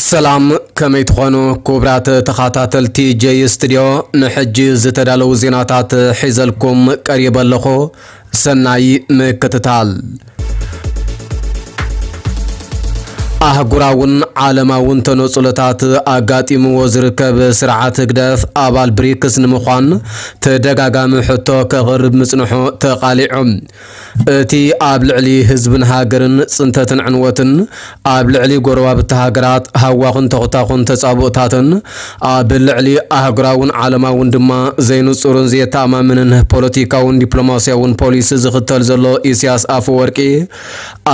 ሰላም፣ ከመይ ትኾኑ ክቡራት ተኸታተልቲ ጀይ ስቱድዮ? ንሕጂ ዝተዳለዉ ዜናታት ሒዘልኩም ቀሪበ ኣለኹ። ሰናይ ምክትታል። ኣህጉራውን ዓለማውን ተነጽሎታት ኣጋጢምዎ ዝርከብ ስርዓት ህግደፍ ኣባል ብሪክስ ንምዃን ተደጋጋሚ ሕቶ ከቕርብ ምጽንሑ ተቓሊዑ። እቲ ኣብ ልዕሊ ህዝብን ሃገርን ጽንተትን ዕንወትን፣ ኣብ ልዕሊ ጎረባብቲ ሃገራት ሃዋኽን ተኹታኹን ተጻብኦታትን፣ ኣብ ልዕሊ ኣህጉራውን ዓለማውን ድማ ዘይንጹርን ዘየተኣማምንን ፖለቲካውን ዲፕሎማስያውን ፖሊሲ ዝኽተል ዘሎ ኢሳያስ ኣፈወርቂ፣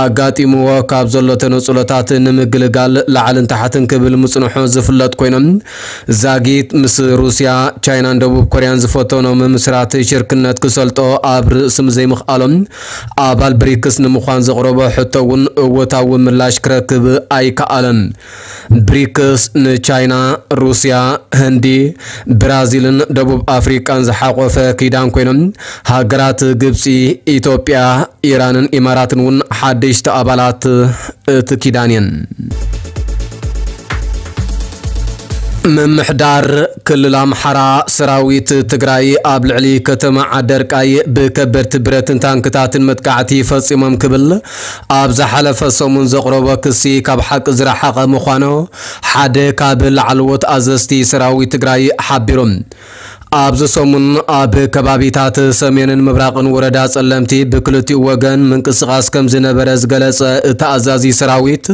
ኣጋጢምዎ ካብ ዘሎ ተነጽሎታት ንምግልጋል ላዕልን ታሕትን ክብል ምጽንሑ ዝፍለጥ ኮይኖም፣ ዛጊት ምስ ሩስያ፣ ቻይናን ደቡብ ኮርያን ዝፈተኖ ምምስራት ሽርክነት ክሰልጦ ኣብ ርእሲ ዘይምኽኣሎም፣ ኣባል ብሪክስ ንምዃን ዘቕረቦ ሕቶ እውን እወታዊ ምላሽ ክረክብ ኣይከኣለን። ብሪክስ ንቻይና፣ ሩስያ፣ ህንዲ፣ ብራዚልን ደቡብ ኣፍሪቃን ዝሓቖፈ ኪዳን ኮይኖም፣ ሃገራት ግብጺ፣ ኢትዮጵያ፣ ኢራንን ኢማራትን እውን ሓደሽቲ ኣባላት እቲ ኪዳን እየን። ምምሕዳር ክልል ኣምሓራ፣ ሰራዊት ትግራይ ኣብ ልዕሊ ከተማ ዓደርቃይ ብከበድቲ ብረትን ታንክታትን መጥቃዕቲ ፈጺሞም ክብል ኣብ ዝሓለፈ ሰሙን ዘቕረቦ ክሲ ካብ ሓቂ ዝረሓቐ ምዃኑ ሓደ ካብ ላዕለዎት ኣዘዝቲ ሰራዊት ትግራይ ሓቢሮም። ኣብዚ ሰሙን ኣብ ከባቢታት ሰሜንን ምብራቕን ወረዳ ጸለምቲ ብክልቲኡ ወገን ምንቅስቓስ ከም ዝነበረ ዝገለጸ እቲ ኣዛዚ ሰራዊት፣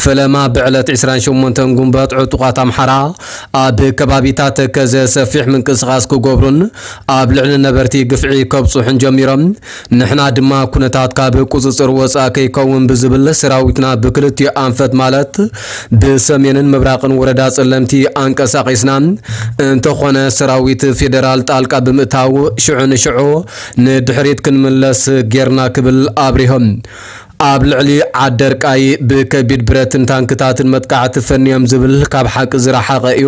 ፈለማ ብዕለት ዕስራን ሸሞንተን ጉንበት ዕጡቓት ኣምሓራ ኣብ ከባቢታት ተከዘ ሰፊሕ ምንቅስቓስ ክገብሩን ኣብ ልዕሊ ነበርቲ ግፍዒ ከብጽሑን ጀሚሮም። ንሕና ድማ ኩነታት ካብ ቁጽጽር ወጻእ ከይከውን ብዝብል ሰራዊትና ብክልቲኡ ኣንፈት ማለት ብሰሜንን ምብራቕን ወረዳ ጸለምቲ ኣንቀሳቒስና፣ እንተኾነ ሰራዊት ፌደራል ጣልቃ ብምእታው ሽዑ ንሽዑ ንድሕሪት ክንምለስ ጌርና ክብል ኣብሪሆም። ኣብ ልዕሊ ዓደርቃይ ብከቢድ ብረትን ታንክታትን መጥቃዕቲ ፈንዮም ዝብል ካብ ሓቂ ዝረሓቐ እዩ።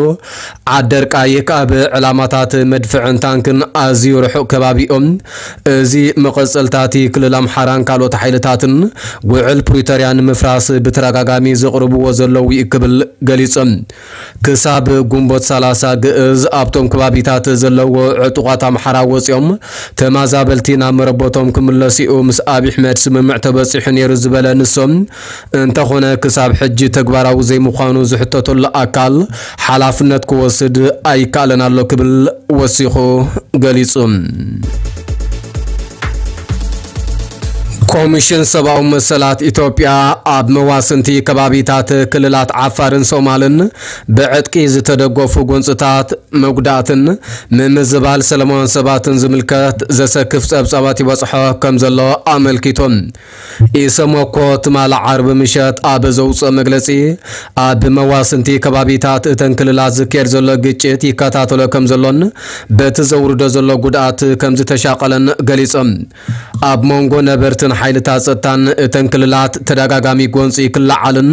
ዓደርቃይ ካብ ዕላማታት መድፍዕን ታንክን ኣዝዩ ርሑቕ ከባቢ እዮም። እዚ መቐጸልታቲ ክልል ኣምሓራን ካልኦት ሓይልታትን ውዕል ፕሪቶርያ ንምፍራስ ብተደጋጋሚ ዘቕርብዎ ዘለዉ እዩ ክብል ገሊጾም። ክሳብ ጉንቦት ሰላሳ ግእዝ ኣብቶም ከባቢታት ዘለዎ ዕጡቓት ኣምሓራ ወጺኦም ተማዛበልቲ ናብ መረቦቶም ክምለሱ እዩ ምስ ኣብይ ኣሕመድ ስምምዕ ተበጺሑ ነይሩ ዝበለ ንሶም፣ እንተኾነ ክሳብ ሕጂ ተግባራዊ ዘይምዃኑ ዝሕተተሉ ኣካል ሓላፍነት ክወስድ ኣይከኣለን ኣሎ ክብል ወሲኹ ገሊጹ። ኮሚሽን ሰብኣዊ መሰላት ኢትዮጵያ ኣብ መዋስንቲ ከባቢታት ክልላት ዓፋርን ሶማልን ብዕጥቂ ዝተደገፉ ጎንፅታት መጉዳእትን ምምዝባል ሰላማውያን ሰባትን ዝምልከት ዘሰክፍ ጸብጻባት ይበጽሖ ከም ዘሎ ኣመልኪቶም። ኢሰመኮ ትማሊ ዓርቢ ምሸት ኣብ ዘውፅኦ መግለጺ፣ ኣብ መዋስንቲ ከባቢታት እተን ክልላት ዝካየድ ዘሎ ግጭት ይከታተሎ ከም ዘሎን በቲ ዘውርዶ ዘሎ ጉድኣት ከም ዝተሻቐለን ገሊጾም። ኣብ መንጎ ነበርትን ሓይልታት ጸጥታን እተን ክልላት ተደጋጋሚ ጎንፂ ክለዓልን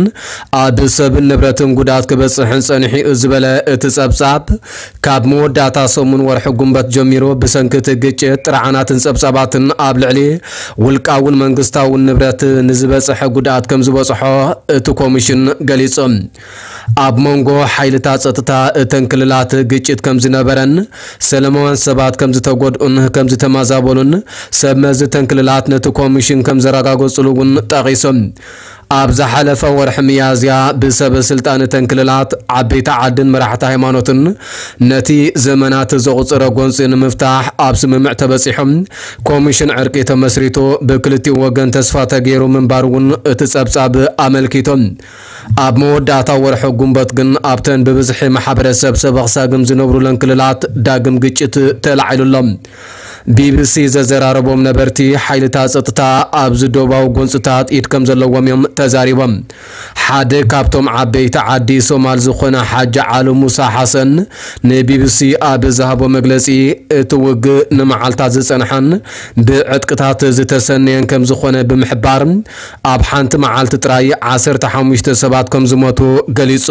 ኣብ ሰብን ንብረትን ጉድኣት ክበፅሕን ጸኒሑ እዩ ዝበለ እቲ ጸብጻብ፣ ካብ መወዳእታ ሰሙን ወርሒ ጉንበት ጀሚሩ ብሰንኪ እቲ ግጭት ጥርዓናትን ጸብጻባትን ኣብ ልዕሊ ውልቃውን መንግስታውን ንብረት ንዝበፅሐ ጉድኣት ከም ዝበፅሖ እቲ ኮሚሽን ገሊጹ። ኣብ መንጎ ሓይልታት ጸጥታ እተን ክልላት ግጭት ከም ዝነበረን ሰላማውያን ሰባት ከም ዝተጎድኡን ከም ዝተማዛበሉን ሰብ መዚ እተን ክልላት ነቲ ኮሚሽን ከም ዘረጋገጹሉ እውን ጠቒሶም። ኣብ ዝሓለፈ ወርሒ ሚያዝያ ብሰበ ስልጣን እተን ክልላት ዓበይቲ ዓድን መራሕቲ ሃይማኖትን ነቲ ዘመናት ዘቑጸረ ጎንጺ ንምፍታሕ ኣብ ስምምዕ ተበጺሖም። ኮሚሽን ዕርቂ ተመስሪቱ ብክልቲኡ ወገን ተስፋ ተገይሩ ምንባሩ እውን እቲ ጸብጻብ ኣመልኪቶም። ኣብ መወዳእታ ወርሒ ጉንበት ግን ኣብተን ብብዝሒ ማሕበረሰብ ሰበኽ ሳግም ዝነብሩለን ክልላት ዳግም ግጭት ተላዒሉሎም። ቢቢሲ ዘዘራረቦም ነበርቲ ሓይልታት ጸጥታ ኣብዚ ዶባዊ ጎንጽታት ኢድ ከም ዘለዎም እዮም ተዛሪቦም። ሓደ ካብቶም ዓበይቲ ዓዲ ሶማል ዝኾነ ሓጂ ዓሊ ሙሳ ሓሰን ንቢቢሲ ኣብ ዝሃቦ መግለጺ፣ እቲ ውግእ ንመዓልታት ዝጸንሐን ብዕጥቅታት ዝተሰነየን ከም ዝኾነ ብምሕባር፣ ኣብ ሓንቲ መዓልቲ ጥራይ ዓሰርተ ሓሙሽተ ሰባት ከም ዝሞቱ ገሊጹ።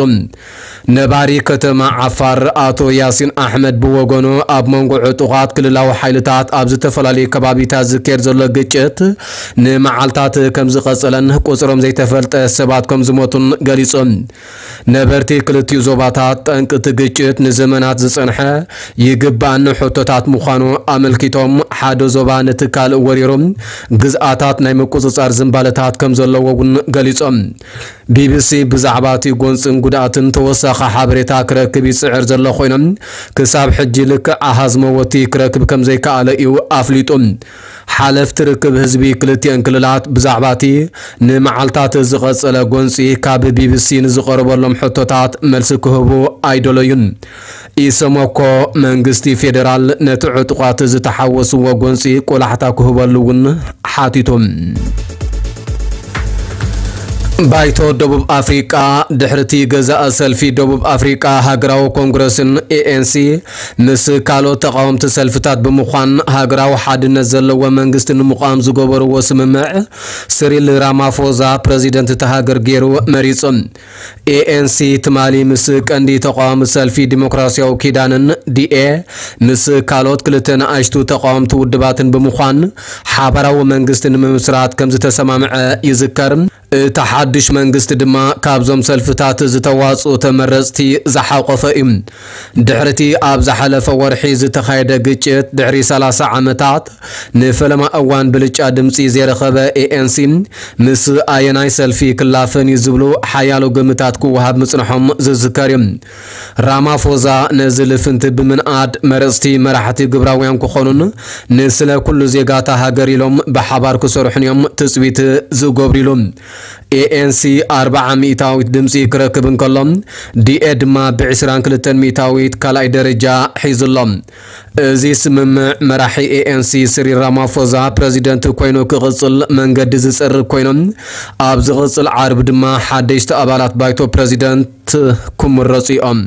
ነባሪ ከተማ ዓፋር ኣቶ ያሲን ኣሕመድ ብወገኑ፣ ኣብ መንጎ ዕጡቓት ክልላዊ ሓይልታት ኣብ ዝተፈላለዩ ከባቢታት ዝካየድ ዘሎ ግጭት ንመዓልታት ከም ዝቐጸለን ቁጽሮም ዘይተፈልጠ ሰባት ከም ዝሞቱን ገሊጹ። ነበርቲ ክልቲኡ ዞባታት ጠንቂ እቲ ግጭት ንዘመናት ዝጸንሐ ይግባእኒ ሕቶታት ምዃኑ ኣመልኪቶም፣ ሓደ ዞባ ነቲ ካልእ ወሪሩ ግዝኣታት ናይ ምቁጽጻር ዝንባለታት ከም ዘለዎ እውን ገሊጾም። ቢቢሲ ብዛዕባ እቲ ጎንጽን ጉድኣትን ተወሳኺ ሓበሬታ ክረክብ ይጽዕር ዘሎ ኮይኖም፣ ክሳብ ሕጂ ልክዕ ኣሃዝ መወቲ ክረክብ ከም ዘይከኣለ እዩ ኣፍሊጡ። ሓለፍቲ ርክብ ህዝቢ ክልቲአን ክልላት ብዛዕባ እቲ ንመዓልታት ዝቐጸለ ጎንጺ ካብ ቢቢሲ ንዝቐረበሎም ሕቶታት መልሲ ክህቡ ኣይደለዩን። ኢሰመኮ መንግስቲ ፌዴራል ነቲ ዕጡቓት ዝተሓወስዎ ጎንጺ ቆላሕታ ክህበሉ እውን ሓቲቱ። ባይቶ ደቡብ ኣፍሪቃ ድሕርቲ ገዛእ ሰልፊ ደቡብ ኣፍሪቃ ሃገራዊ ኮንግረስን ኤኤንሲ ምስ ካልኦት ተቓወምቲ ሰልፍታት ብምዃን ሃገራዊ ሓድነት ዘለዎ መንግስቲ ንምቋም ዝገበርዎ ስምምዕ፣ ስሪል ራማፎዛ ፕረዚደንት እታ ሃገር ገይሩ መሪጹ። ኤኤንሲ ትማሊ ምስ ቀንዲ ተቓዋሚ ሰልፊ ዲሞክራሲያዊ ኪዳንን ዲኤ ምስ ካልኦት ክልተ ንኣሽቱ ተቓወምቲ ውድባትን ብምዃን ሓባራዊ መንግስቲ ንምምስራት ከም ዝተሰማምዐ ይዝከር። እቲ ሓድሽ መንግስቲ ድማ ካብዞም ሰልፍታት ዝተዋጽኡ ተመረጽቲ ዝሓቆፈ እዩ። ድሕሪቲ ኣብ ዝሓለፈ ወርሒ ዝተኻየደ ግጭት፣ ድሕሪ ሰላሳ ዓመታት ንፈለማ እዋን ብልጫ ድምጺ ዘይረኸበ ኤኤንሲ፣ ምስ ኣየናይ ሰልፊ ክላፈን እዩ ዝብሉ ሓያሎ ግምታት ክወሃብ ምጽንሖም ዝዝከር እዩ። ራማፎዛ ነዚ ልፍንቲ ብምንኣድ፣ መረጽቲ መራሕቲ ግብራውያን ክኾኑን ንስለ ኩሉ ዜጋታ ሃገር ኢሎም ብሓባር ክሰርሑን እዮም ትጽቢት ዝገብሩ ኢሉ። ኤኤንሲ ኣርብዓ ሚእታዊት ድምጺ ክረክብ እንከሎ፣ ዲኤ ድማ ብ ዕስራን ክልተን ሚእታዊት ካልኣይ ደረጃ ሒዙ ኣሎ። እዚ ስምምዕ መራሒ ኤኤንሲ ስሪል ራማፎዛ ፕረዚደንት ኮይኑ ክቕጽል መንገዲ ዝጸርግ ኮይኑ፣ ኣብ ዝቕጽል ዓርቢ ድማ ሓደሽቲ ኣባላት ባይቶ ፕረዚደንት ክምረጹ እዮም።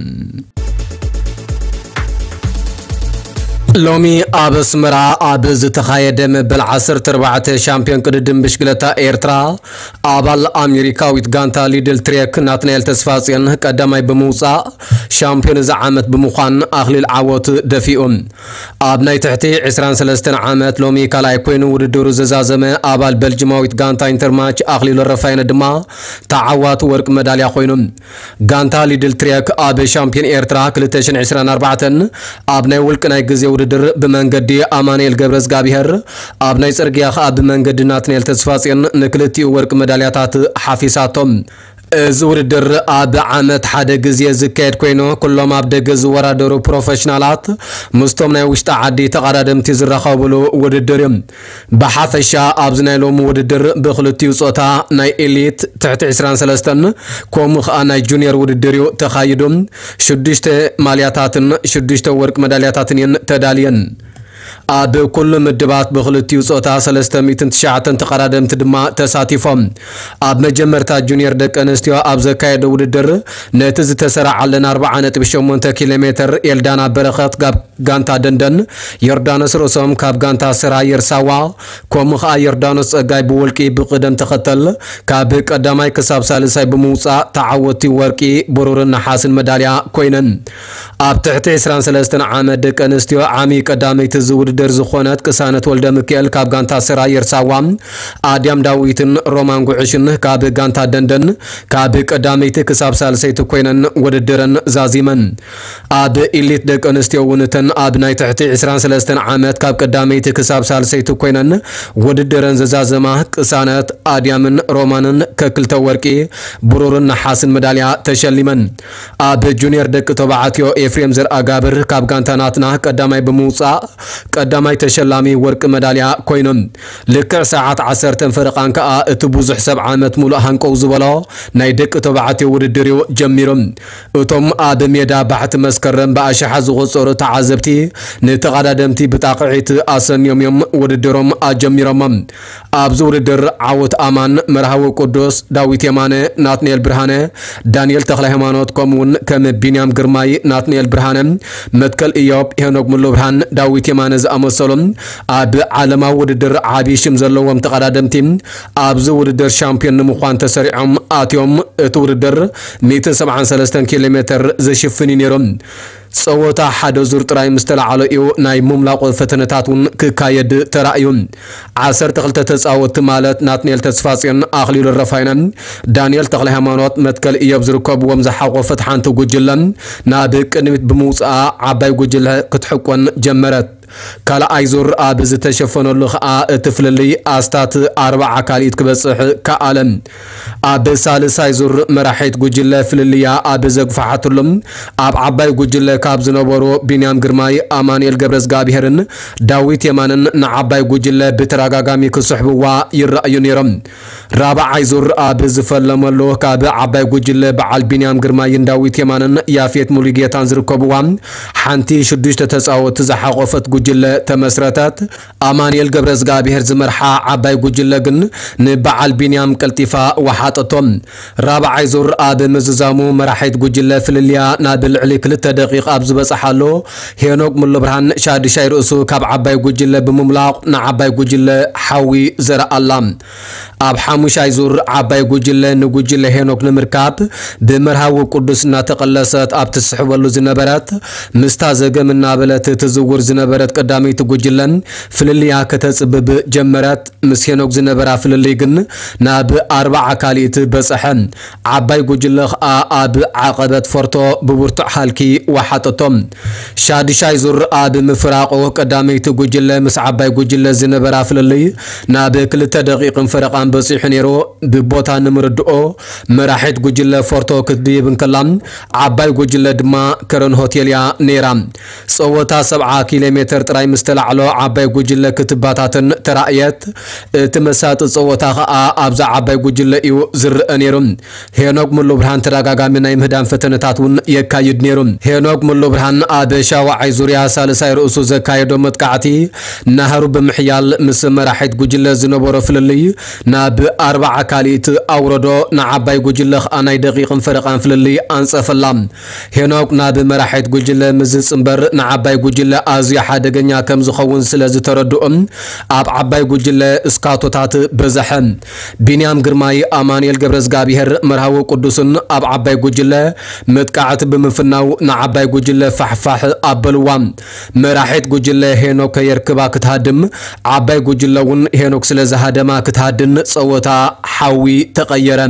ሎሚ ኣብ ኣስመራ ኣብ ዝተኻየደ መበል ዓሰርተ ኣርባዕተ ሻምፒዮን ቅድድም ብሽክለታ ኤርትራ፣ ኣባል ኣሜሪካዊት ጋንታ ሊድል ትሬክ ናትናኤል ተስፋጽዮን ቀዳማይ ብምውጻእ፣ ሻምፒዮን እዚ ዓመት ብምዃን ኣኽሊል ዓወት ደፊኡ። ኣብ ናይ ትሕቲ ዕስራን ሰለስተን ዓመት ሎሚ ካልኣይ ኮይኑ ውድድሩ ዘዛዘመ ኣባል በልጅማዊት ጋንታ ኢንተርማች ኣኽሊሉ ረፋይነ ድማ ተዓዋቲ ወርቂ መዳልያ ኮይኑ። ጋንታ ሊድል ትሬክ ኣብ ሻምፒዮን ኤርትራ ክልተ ሽሕን ዕስራን ኣርባዕተን ኣብ ናይ ውልቂ ናይ ግዜ ውድድር ብመንገዲ ኣማኑኤል ገብረዝጋብሄር፣ ኣብ ናይ ጽርግያ ከኣ ብመንገዲ ናትናኤል ተስፋጽዮን ንክልቲኡ ወርቂ መዳልያታት ሓፊሳቶም። እዚ ውድድር ኣብ ዓመት ሓደ ግዜ ዝካየድ ኮይኑ፣ ኩሎም ኣብ ደገ ዝወዳደሩ ፕሮፌሽናላት ምስቶም ናይ ውሽጢ ዓዲ ተቐዳደምቲ ዝራኸብሉ ውድድር እዩ። ብሓፈሻ ኣብዚ ናይ ሎሚ ውድድር ብክልቲኡ ጾታ ናይ ኤሊት ትሕቲ ዕስራን ሰለስተን ከምኡ ኸኣ ናይ ጁኒየር ውድድር እዩ ተኻይዱ። ሽዱሽተ ማልያታትን ሽዱሽተ ወርቂ መዳልያታትን እየን ተዳልየን። ኣብ ኩሉ ምድባት ብክልቲኡ ጾታ ሰለስተ ሚእትን ትሽዓተን ተቐዳደምቲ ድማ ተሳቲፎም። ኣብ መጀመርታ ጁኒየር ደቂ ኣንስትዮ ኣብ ዘካየደ ውድድር ነቲ ዝተሰራዓለን ኣርብዓ ነጥቢ ሸሞንተ ኪሎ ሜትር ኤልዳና በረኸት ጋብ ጋንታ ደንደን፣ ዮርዳኖስ ርእሶም ካብ ጋንታ ስራ የርሳዋ፣ ከምኡ ኸኣ ዮርዳኖስ ጸጋይ ብውልቂ ብቕደም ተኸተል ካብ ቀዳማይ ክሳብ ሳልሳይ ብምውጻእ ተዓወቲ ወርቂ፣ ብሩርን ነሓስን መዳልያ ኮይነን። ኣብ ትሕቲ ዕስራን ሰለስተን ዓመት ደቂ ኣንስትዮ ዓሚ ቀዳመይቲ እዚ ውድድር ዝኾነት ቅሳነት ወልደ ሚካኤል ካብ ጋንታ ስራ የርሳዋ፣ ኣድያም ዳዊትን ሮማን ጉዕሽን ካብ ጋንታ ደንደን ካብ ቀዳመይቲ ክሳብ ሳልሰይቲ ኮይነን ውድድረን ዛዚመን። ኣብ ኢሊት ደቂ ኣንስትዮ እውን እተን ኣብ ናይ ትሕቲ ዕስራን ሰለስተን ዓመት ካብ ቀዳመይቲ ክሳብ ሳልሰይቲ ኮይነን ውድድረን ዘዛዘማ ቅሳነት፣ ኣድያምን ሮማንን ከክልተ ወርቂ፣ ብሩርን ነሓስን መዳልያ ተሸሊመን። ኣብ ጁኒየር ደቂ ተባዕትዮ ኤፍሬም ዘርኣጋብር ካብ ጋንታ ናትና ቀዳማይ ብምውጻእ ቀዳማይ ተሸላሚ ወርቂ መዳልያ ኮይኖም። ልክዕ ሰዓት ዓሰርተን ፈረቓን ከኣ እቲ ብዙሕ ሰብ ዓመት ሙሉእ ሃንቀው ዝበሎ ናይ ደቂ ተባዕትዮ ውድድር እዩ ጀሚሩ። እቶም ኣብ ሜዳ ባሕቲ መስከረም ብኣሽሓት ዝቑጸሩ ተዓዘብቲ ንተቐዳደምቲ ብጣቕዒት ኣሰንዮም እዮም ውድድሮም ኣጀሚሮሞም። ኣብዚ ውድድር ዓወት ኣማን፣ መርሃዊ ቅዱስ፣ ዳዊት የማነ፣ ናትናኤል ብርሃነ፣ ዳንኤል ተኽለ ሃይማኖት፣ ከምኡውን ከም ቢንያም ግርማይ፣ ናትናኤል ብርሃነ፣ መትከል እዮብ፣ ሄኖክ ሙሉብርሃን፣ ዳዊት የማነ ዝኣመሰሉ ኣብ ዓለማዊ ውድድር ዓቢ ሽም ዘለዎም ተቐዳደምቲ ኣብዚ ውድድር ሻምፒዮን ንምዃን ተሰሪዖም ኣትዮም። እቲ ውድድር ሚእትን ሰብዓን ሰለስተን ኪሎ ሜትር ዝሽፍን እዩ ነይሩ። ጸወታ ሓደ ዙር ጥራይ ምስ ተላዕሎ እዩ ናይ ምምላቑ ፈተነታት እውን ክካየድ ተራእዩ። ዓሰርተ ክልተ ተጻወትቲ ማለት ናትናኤል ተስፋጽዮን፣ ኣኽሊሉ ረፋይነን፣ ዳንኤል ተኽለ ሃይማኖት፣ መትከል እዮብ ዝርከብዎም ዝሓቖፈት ሓንቲ ጉጅለ ናብ ቅድሚት ብምውጽኣ ዓባይ ጉጅለ ክትሕቆን ጀመረት። ካልኣይ ዙር ኣብ ዝተሸፈነሉ ኸኣ እቲ ፍልልይ ኣስታት ኣርባዓ ካልኢት ክበጽሕ ከኣለ። ኣብ ሳልሳይ ዙር መራሒት ጉጅለ ፍልልያ ኣብ ዘግፍሓትሉ ኣብ ዓባይ ጉጅለ ካብ ዝነበሩ ቢንያም ግርማይ፣ ኣማኑኤል ገብረዝጋብሄርን ዳዊት የማንን ንዓባይ ጉጅለ ብተደጋጋሚ ክስሕብዋ ይረኣዩ ነይሮም። ራብዓይ ዙር ኣብ ዝፈለመሉ ካብ ዓባይ ጉጅለ በዓል ቢንያም ግርማይን ዳዊት የማንን ያፌት ሙሉጌታን ዝርከብዋ ሓንቲ ሽዱሽተ ተጻወትቲ ዝሓቖፈት ጉጅለ ተመስረተት። ኣማኑኤል ገብረዝጋብሄር ዝመርሓ ዓባይ ጉጅለ ግን ንበዓል ቢንያም ቀልጢፋ ወሓጠቶ። ራብዓይ ዙር ኣብ ምዝዛሙ መራሒት ጉጅለ ፍልልያ ናብ ልዕሊ ክልተ ደቂቕ ኣብ ዝበጽሓሉ ሄኖክ ሙሉብርሃን ሻድሻይ ርእሱ ካብ ዓባይ ጉጅለ ብምምላቕ ንዓባይ ጉጅለ ሓዊ ዘርኣላ። ኣብ ሓሙሻይ ዙር ዓባይ ጉጅለ ንጉጅለ ሄኖክ ንምርካብ ብመርሃዊ ቅዱስ እናተቐለሰት ኣብ ትስሕበሉ ዝነበረት፣ ምስታ ዘገም እናበለት ትዝውር ዝነበረት ቀዳመይቲ ጉጅለ ፍልልያ ከተጽብብ ጀመረት። ምስ ሄኖክ ዝነበራ ፍልልይ ግን ናብ ኣርባዓ ካልኢት በጸሐ። ዓባይ ጉጅለ ኸኣ ኣብ ዓቐበት ፎርቶ ብብርቱዕ ሃልኪ ወሓጠቶም። ሻድሻይ ዙር ኣብ ምፍራቑ ቀዳመይቲ ጉጅለ ምስ ዓባይ ጉጅለ ዝነበራ ፍልልይ ናብ ክልተ ደቂቕን ፈረቓን በጺሑ ነይሩ። ብቦታ ንምርድኦ መራሒት ጉጅለ ፎርቶ ክትድይብ እንከላ ዓባይ ጉጅለ ድማ ከረን ሆቴል እያ ነይራ። ጸወታ ሰብዓ ኪሎ ሜተር ጥራይ ምስ ተላዕሎ ዓባይ ጉጅለ ክትበታተን ተራእየት። እቲ መሳጢ ጸወታ ኸኣ ኣብዛ ዓባይ ጉጅለ እዩ ዝረአ ነይሩ። ሄኖክ ሙሉብርሃን ተደጋጋሚ ናይ ምህዳን ፈተነታት እውን የካይድ ነይሩ። ሄኖክ ሙሉብርሃን ኣብ ሻውዓይ ዙርያ ሳልሳይ ርእሱ ዘካየዶ መጥቃዕቲ ናህሩ ብምሕያል ምስ መራሒት ጉጅለ ዝነበሮ ፍልልይ ናብ ኣርባዓ ካልኢት ኣውረዶ። ንዓባይ ጉጅለ ኸኣ ናይ ደቂቕን ፈረቓን ፍልልይ ኣንጸፈላ። ሄኖክ ናብ መራሒት ጉጅለ ምስ ዝጽንበር ንዓባይ ጉጅለ ኣዝዩ ሓደገኛ ከም ዝኸውን ስለ ዝተረድኦም ኣብ ዓባይ ጉጅለ እስካቶታት በዝሐ። ቢንያም ግርማይ፣ ኣማኑኤል ገብረዝጋብሄር፣ መርሃዊ ቅዱስን ኣብ ዓባይ ጉጅለ መጥቃዕቲ ብምፍናው ንዓባይ ጉጅለ ፋሕፋሕ ኣበልዋ። መራሒት ጉጅለ ሄኖክ ከየርክባ ክትሃድም፣ ዓባይ ጉጅለ እውን ሄኖክ ስለ ዝሃደማ ክትሃድን ጸወታ ሓዊ ተቐየረ።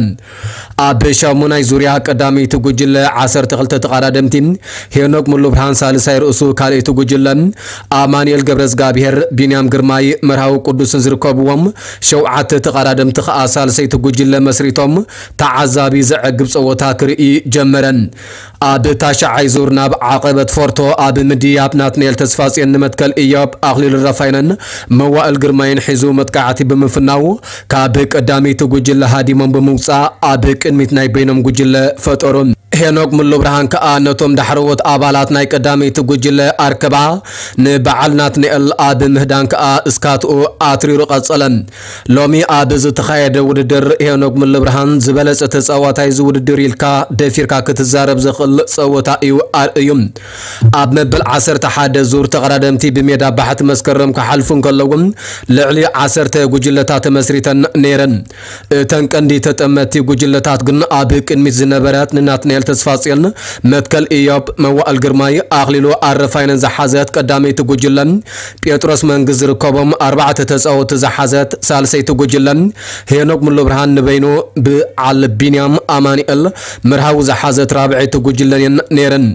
ኣብ ሻሙናይ ዙርያ ቀዳመይቲ ጉጅለ ዓሰርተ ክልተ ተቐዳደምቲ፣ ሄኖክ ሙሉብርሃን ሳልሳይ ርእሱ ካልኣይቲ ጉጅለ፣ ኣማኑኤል ገብረዝጋብሄር፣ ቢንያም ግርማይ፣ መርሃዊ ቅዱስን ዝርከብዎም ሸውዓተ ተቐዳደምቲ ኸኣ ሳልሰይቲ ጉጅለ መስሪቶም ተዓዛቢ ዘዕግብ ጸወታ ክርኢ ጀመረ። ኣብ ታሽዓይ ዙር ናብ ዓቐበት ፎርቶ ኣብ ምድያብ ናትናኤል ተስፋጽዮን ንመትከል እዮብ ኣኽሊሉ ረፋይነን መዋእል ግርማይን ሒዙ መጥቃዕቲ ብምፍናው ካብ ቀዳመይቲ ጉጅለ ሃዲሞም ብምውጻእ ኣብ ቅድሚት ናይ በይኖም ጉጅለ ፈጠሩ። ሄኖክ ሙሉብርሃን ከኣ ነቶም ዳሕረዎት ኣባላት ናይ ቀዳመይቲ ጉጅለ ኣርከባ። ንበዓል ናትናኤል ኣብ ምህዳን ከኣ እስካትኡ ኣትሪሩ ቀጸለ። ሎሚ ኣብ ዝተኻየደ ውድድር ሄኖክ ሙሉብርሃን ዝበለጸ ተጻዋታይ እዚ ውድድር ኢልካ ደፊርካ ክትዛረብ ዘኽእል ጸወታ እዩ ኣርእዩ። ኣብ መበል ዓሰርተ ሓደ ዙር ተቐዳደምቲ ብሜዳ ባሕቲ መስከረም ክሓልፉ እንከለዉ ልዕሊ ዓሰርተ ጉጅለታት ተመስሪተን ነይረን። እተን ቀንዲ ተጠመቲ ጉጅለታት ግን ኣብ ቅድሚት ዝነበረት ንናትናኤል ተስፋጽዮን፣ መትከል ኢዮብ፣ መዋእል ግርማይ፣ ኣኽሊሉ ኣረፋይነን ዝሓዘት ቀዳመይቲ ጉጅለ፣ ጴጥሮስ መንግስ ዝርከቦም ኣርባዕተ ተጻወትቲ ዝሓዘት ሳልሰይቲ ጉጅለ፣ ሄኖክ ሙሉብርሃን ንበይኑ፣ ብዓል ቢንያም ኣማኑኤል መርሃዊ ዝሓዘት ራብዐይቲ ጉጅለን እየን ነይረን።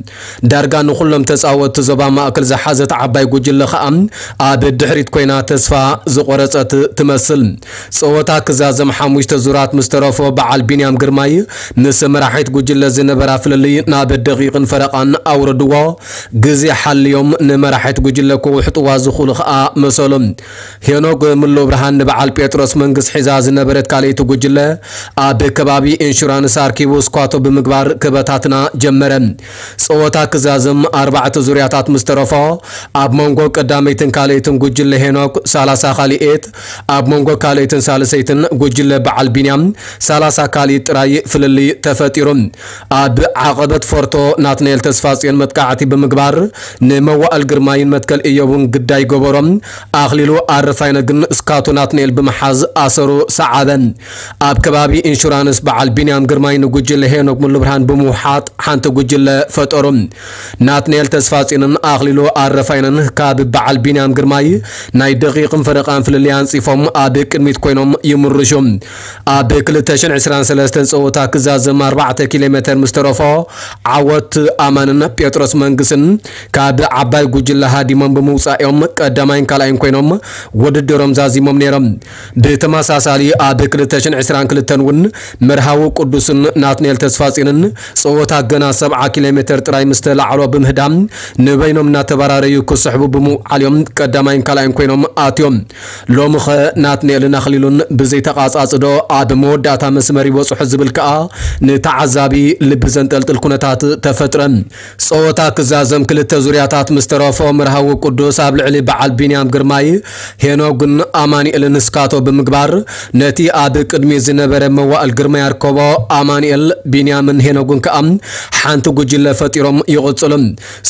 ዳርጋ ንኹሎም ተጻወትቲ ዞባ ማእከል ዝሓዘት ዓባይ ጉጅለ ኸኣ ኣብ ድሕሪት ኮይና ተስፋ ዝቖረጸት ትመስል። ጸወታ ክዛዘም ሓሙሽተ ዙራት ምስ ተረፎ በዓል ቢንያም ግርማይ ምስ መራሒት ጉጅለ ዝነበራ ፍልልይ ናብ ደቂቕን ፈረቓን ኣውረድዎ። ግዜ ሓልዮም ንመራሒት ጉጅለ ክውሕጥዋ ዝኽእሉ ኸኣ መሰሉ። ሄኖክ ሙሉብርሃን ንበዓል ጴጥሮስ መንግስ ሒዛ ዝነበረት ካልኣይቲ ጉጅለ ኣብ ከባቢ ኢንሹራንስ ኣርኪቡ ስኳቶ ብምግባር ክበታትና ጀመረ። ጸወታ ክዛዘም ኣርባዕተ ዙርያታት ምስ ተረፎ፣ ኣብ መንጎ ቀዳመይትን ካልኣይትን ጉጅለ ሄኖክ ሰላሳ ካልኢት፣ ኣብ መንጎ ካልኣይትን ሳልሰይትን ጉጅለ በዓል ቢንያም ሰላሳ ካልኢት ጥራይ ፍልልይ ተፈጢሩ። ኣብ ብዓቐበት ፎርቶ ናትናኤል ተስፋጽዮን መጥቃዕቲ ብምግባር ንመዋእል ግርማይን መትከል እዮብን ግዳይ ገበሮም። ኣኽሊሉ ኣረፋይነ ግን ስካቶ ናትናኤል ብምሓዝ ኣሰሩ ሰዓበ። ኣብ ከባቢ ኢንሹራንስ በዓል ቢንያም ግርማይ ንጉጅለ ሄኖክ ሙሉብርሃን ብምውሓጥ ሓንቲ ጉጅለ ፈጠሩ። ናትናኤል ተስፋጽዮንን ኣኽሊሉ ኣረፋይነን ካብ በዓል ቢንያም ግርማይ ናይ ደቂቕን ፈረቓን ፍልልይ ኣንጺፎም ኣብ ቅድሚት ኮይኖም ይምርሹ። ኣብ ክልተ ሽሕን ዕስራን ሰለስተን ጸወታ ክዛዘም ኣርባዕተ ኪሎ ሜተር ምስ ተረፎ ዓወት ኣማንን ጴጥሮስ መንግስን ካብ ዓባይ ጉጅለ ሃዲሞም ብምውጻእ እዮም ቀዳማይን ካልኣይን ኮይኖም ውድድሮም ዛዚሞም ነይሮም። ብተመሳሳሊ ኣብ ክልተ ሽሕን ዕስራን ክልተን እውን መርሃዊ ቅዱስን ናትናኤል ተስፋጽዮንን ጸወታ ገና ሰብዓ ኪሎ ሜተር ጥራይ ምስ ተላዕሎ ብምህዳም ንበይኖም እናተበራረዩ ክስሕቡ ብምውዓል እዮም ቀዳማይን ካልኣይን ኮይኖም ኣትዮም። ሎምኸ ናትናኤልን ኣኽሊሉን ብዘይተቓጻጽዶ ኣብ መወዳእታ መስመር ይበጽሑ ዝብል ከኣ ንተዓዛቢ ልቢ ዘንጠልጥል ኩነታት ተፈጥረ። ጸወታ ክዛዘም ክልተ ዙርያታት ምስ ተረፎ መርሃዊ ቅዱስ ኣብ ልዕሊ በዓል ቢንያም ግርማይ፣ ሄኖግን ኣማኑኤልን ስካቶ ብምግባር ነቲ ኣብ ቅድሚ ዝነበረ መዋእል ግርማይ ኣርከቦ። ኣማኑኤል፣ ቢንያምን ሄኖግን ከኣ ሓንቲ ጉጅለ ፈጢሮም ይቕጽሉ።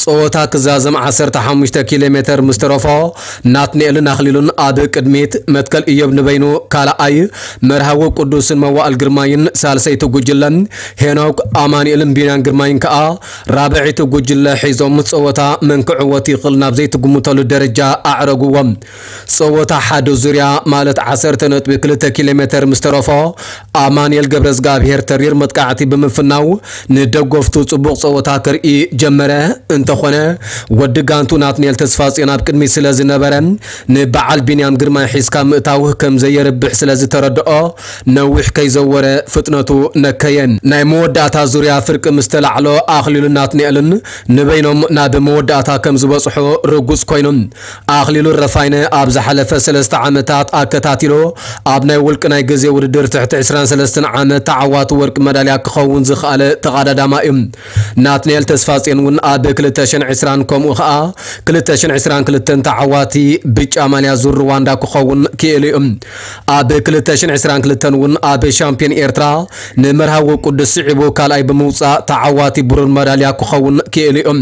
ጸወታ ክዛዘም ዓሰርተ ሓሙሽተ ኪሎ ሜተር ምስ ተረፎ ናትናኤልን ኣኽሊሉን ኣብ ቅድሚት፣ መትከል እዮብ ንበይኑ ካልኣይ፣ መርሃዊ ቅዱስን መዋእል ግርማይን ሳልሰይቲ ጉጅለ፣ ሄኖክ፣ ኣማኑኤልን ቢንያም ግርማይን ከኣ ራብዐይቲ ጉጅለ ሒዞም ጸወታ መን ክዕወት ይኽእል ናብ ዘይትግምተሉ ደረጃ ኣዕረግዎም። ጸወታ ሓደ ዙርያ ማለት ዓሰርተ ነጥቢ ክልተ ኪሎ ሜተር ምስ ተረፎ ኣማኑኤል ገብረዝጋብሄር ተሪር መጥቃዕቲ ብምፍናው ንደገፍቱ ጽቡቕ ጸወታ ከርኢ ጀመረ። እንተኾነ ወዲ ጋንቱ ናትናኤል ተስፋጽዮን ኣብ ቅድሚት ስለ ዝነበረ ንበዓል ቢንያም ግርማይ ሒዝካ ምእታው ከም ዘየርብሕ ስለ ዝተረድኦ ነዊሕ ከይዘወረ ፍጥነቱ ነከየ። ናይ መወዳእታ ዙርያ ፍርቂ ምስ ተላዕሎ ኣኽሊሉን ናትናኤልን ንበይኖም ናብ መወዳእታ ከም ዝበጽሑ ርጉጽ ኮይኑ። ኣኽሊሉ ረፋይነ ኣብ ዝሓለፈ ሰለስተ ዓመታት ኣከታቲሉ ኣብ ናይ ውልቂ ናይ ግዜ ውድድር ትሕቲ ዕስራን ሰለስተን ዓመት ተዓዋቲ ወርቂ መዳልያ ክኸውን ዝኸኣለ ተቐዳዳማ እዩ። ናትናኤል ተስፋጽዮን እውን ኣብ ክልተ ሽሕን ዕስራን ከምኡ ኸኣ ክልተ ሽሕን ዕስራን ክልተን ተዓዋቲ ብጫ ማልያ ዙር ሩዋንዳ ክኸውን ክኢሉ እዩ። ኣብ ክልተ ሽሕን ዕስራን ክልተን እውን ኣብ ሻምፒዮን ኤርትራ ንመርሃዊ ቅዱስ ስዒቡ ካልኣይ ብምውጻእ ተዓዋቲ ብሩር መዳልያ ክኸውን ክኢሉ እዩ።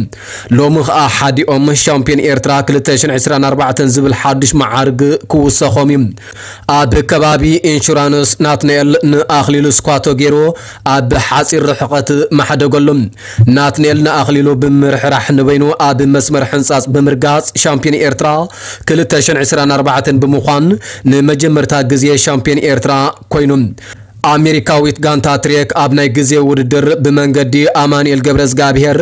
ሎሚ ኸኣ ሓዲኦም ሻምፒዮን ኤርትራ ክልተ ሽሕን ዕስራን ኣርባዕተን ዝብል ሓድሽ መዓርግ ክውሰኾም እዩ። ኣብ ከባቢ ኢንሹራንስ ናትናኤል ንኣኽሊሉ ስኳቶ ገይሩ ኣብ ሓጺር ርሕቐት ማሕደገሉ። ናትናኤል ንኣኽሊሉ ብምርሕራሕ ንበይኑ ኣብ መስመር ሕንጻጽ ብምርጋጽ ሻምፒዮን ኤርትራ ክልተ ሽሕን ዕስራን ኣርባዕተን ብምዃን ንመጀመርታ ግዜ ሻምፒዮን ኤርትራ ኮይኑ። ኣሜሪካዊት ጋንታ ትሬክ ኣብ ናይ ግዜ ውድድር ብመንገዲ ኣማኑኤል ገብረዝጋብሄር፣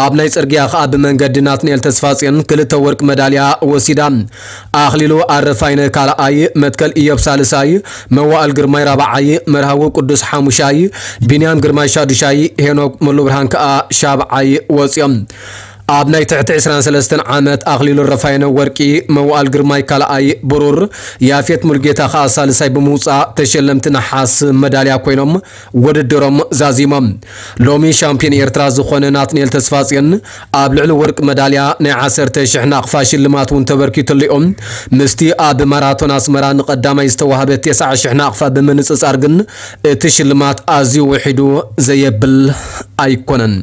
ኣብ ናይ ጽርግያ ኸኣ ብመንገዲ ናትናኤል ተስፋጽዮን ክልተ ወርቂ መዳልያ ወሲዳ። ኣኽሊሉ ኣረፋይነ ካልኣይ፣ መትከል ኢዮብ ሳልሳይ፣ መዋእል ግርማይ ራብዓይ፣ መርሃዊ ቅዱስ ሓሙሻይ፣ ቢንያም ግርማይ ሻዱሻይ፣ ሄኖክ ሙሉብርሃን ከኣ ሻብዓይ ወጺኦም። ኣብ ናይ ትሕቲ ዕስራን ሰለስተን ዓመት ኣኽሊሉ ረፋይነ ወርቂ፣ መዋእል ግርማይ ካልኣይ ብሩር፣ ያፌት ሙልጌታ ከኣ ሳልሳይ ብምውጻእ ተሸለምቲ ነሓስ መዳልያ ኮይኖም ውድድሮም ዛዚሞም። ሎሚ ሻምፒዮን ኤርትራ ዝኾነ ናትናኤል ተስፋጽዮን ኣብ ልዕሊ ወርቂ መዳልያ ናይ ዓሰርተ ሽሕ ናቕፋ ሽልማት እውን ተበርኪትሉ እዮም። ምስቲ ኣብ ማራቶን ኣስመራ ንቐዳማይ ዝተዋህበ ተስዓ ሽሕ ናቕፋ ብምንጽጻር ግን እቲ ሽልማት ኣዝዩ ውሒዱ ዘየብል ኣይኮነን።